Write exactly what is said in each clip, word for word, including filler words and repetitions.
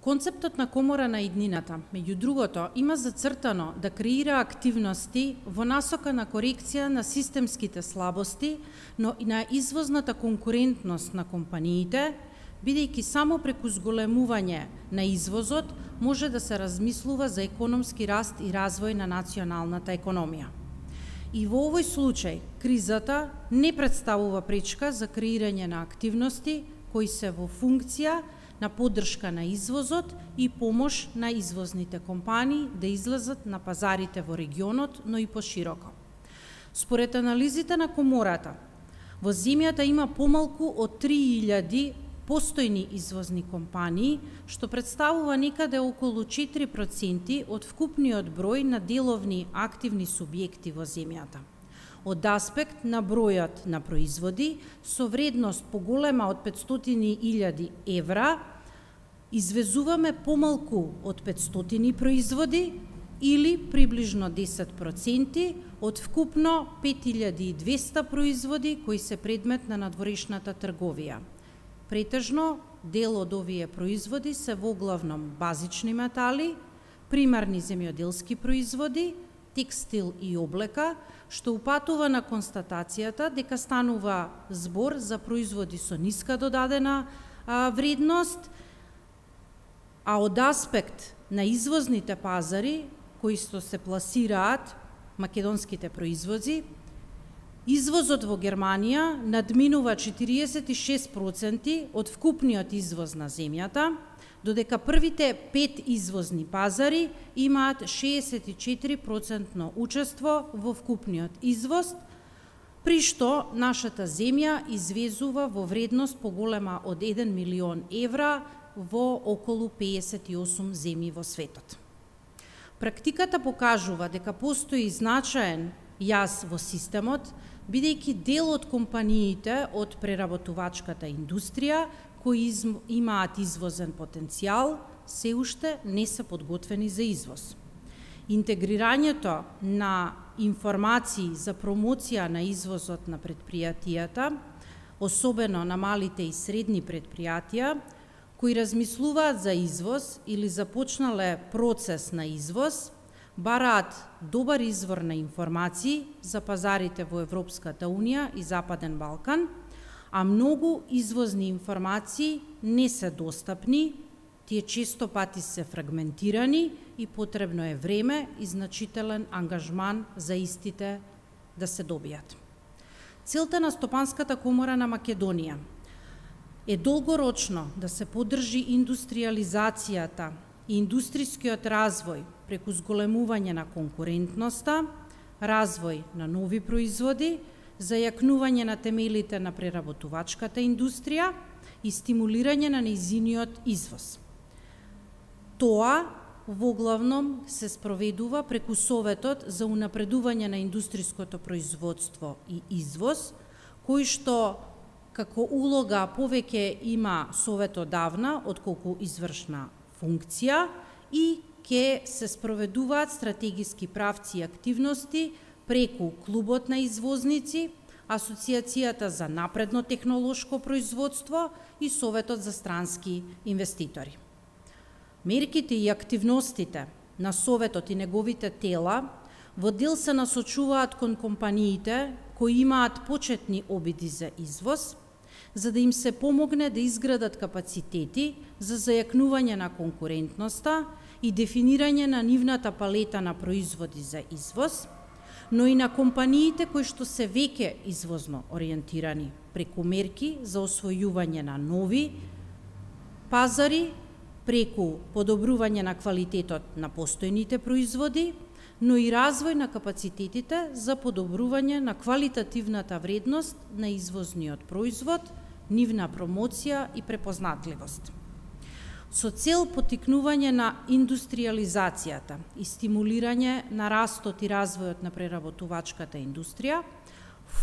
Концептот на комора на иднината, меѓу другото, има зацртано да креира активности во насока на корекција на системските слабости, но и на извозната конкурентност на компаниите, бидејќи само преку зголемување на извозот може да се размислува за економски раст и развој на националната економија. И во овој случај, кризата не представува пречка за креирање на активности кои се во функција на поддршка на извозот и помош на извозните компании да излезат на пазарите во регионот, но и пошироко. Според анализите на комората, во земјата има помалку од три илјади постојни извозни компании, што представува некаде околу четири проценти од вкупниот број на деловни активни субјекти во земјата. Од аспект на бројот на производи со вредност поголема од петстотини илјади евра, извезуваме помалку од петстотини производи или приближно десет проценти од вкупно пет илјади и двесте производи кои се предмет на надворешната трговија. Претежно дел од овие производи се воглавном базични метали, примарни земјоделски производи, текстил и облека, што упатува на констатацијата дека станува збор за производи со ниска додадена а, вредност, а од аспект на извозните пазари, кои што се пласираат македонските производи, извозот во Германија надминува четириесет и шест проценти од вкупниот извоз на земјата, додека првите пет извозни пазари имаат шеесет и четири проценти учество во вкупниот извоз, при што нашата земја извезува во вредност поголема од еден милион евра во околу пеесет и осум земји во светот. Практиката покажува дека постои значаен јаз во системот, бидејќи дел од компаниите од преработувачката индустрија кои имаат извозен потенцијал, се уште не се подготвени за извоз. Интегрирањето на информации за промоција на извозот на предпријатијата, особено на малите и средни предпријатија, кои размислуваат за извоз или започнале процес на извоз, бараат добар извор на информации за пазарите во Европската Унија и Западен Балкан, а многу извозни информации не се достапни, тие често пати се фрагментирани и потребно е време и значителен ангажман за истите да се добијат. Целта на Стопанската комора на Македонија е долгорочно да се поддржи индустриализацијата и индустрискиот развој преку зголемување на конкурентноста, развој на нови производи, зајакнување на темелите на преработувачката индустрија и стимулирање на нејзиниот извоз. Тоа воглавном се спроведува преку Советот за унапредување на индустриското производство и извоз, кој што како улога повеќе има Совет одавна, отколку извршна функција, и ќе се спроведуваат стратегиски правци и активности преку Клубот на извозници, Асоцијацијата за напредно технолошко производство и Советот за странски инвеститори. Мерките и активностите на Советот и неговите тела во дел се насочуваат кон компаниите кои имаат почетни обиди за извоз, за да им се помогне да изградат капацитети за зајакнување на конкурентноста и дефинирање на нивната палета на производи за извоз, но и на компаниите кои што се веќе извозно ориентирани преку мерки за освојување на нови пазари, преку подобрување на квалитетот на постојните производи, но и развој на капацитетите за подобрување на квалитативната вредност на извозниот производ, нивна промоција и препознатливост. Со цел поттикнување на индустриализацијата и стимулирање на растот и развојот на преработувачката индустрија,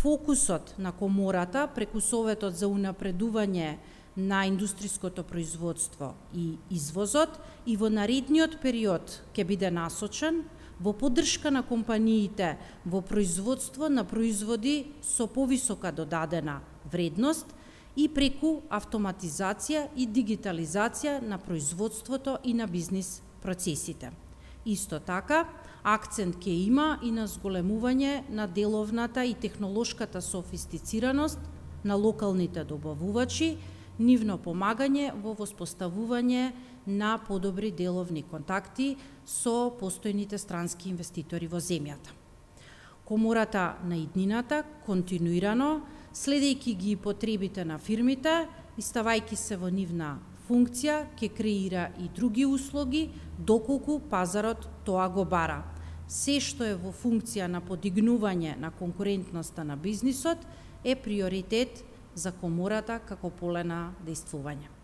фокусот на комората преку Советот за унапредување на индустриското производство и извозот и во наредниот период ќе биде насочен во поддршка на компаниите во производство на производи со повисока додадена вредност и преку автоматизација и дигитализација на производството и на бизнис процесите. Исто така, акцент ќе има и на зголемување на деловната и технолошката софистицираност на локалните добавувачи, нивно помагање во воспоставување на подобри деловни контакти со постојните странски инвеститори во земјата. Комората на иднината континуирано, следејќи ги потребите на фирмите и ставајќи се во нивна функција, ќе креира и други услуги, доколку пазарот тоа го бара. Се што е во функција на подигнување на конкурентноста на бизнисот е приоритет за комората како поле на дејствување.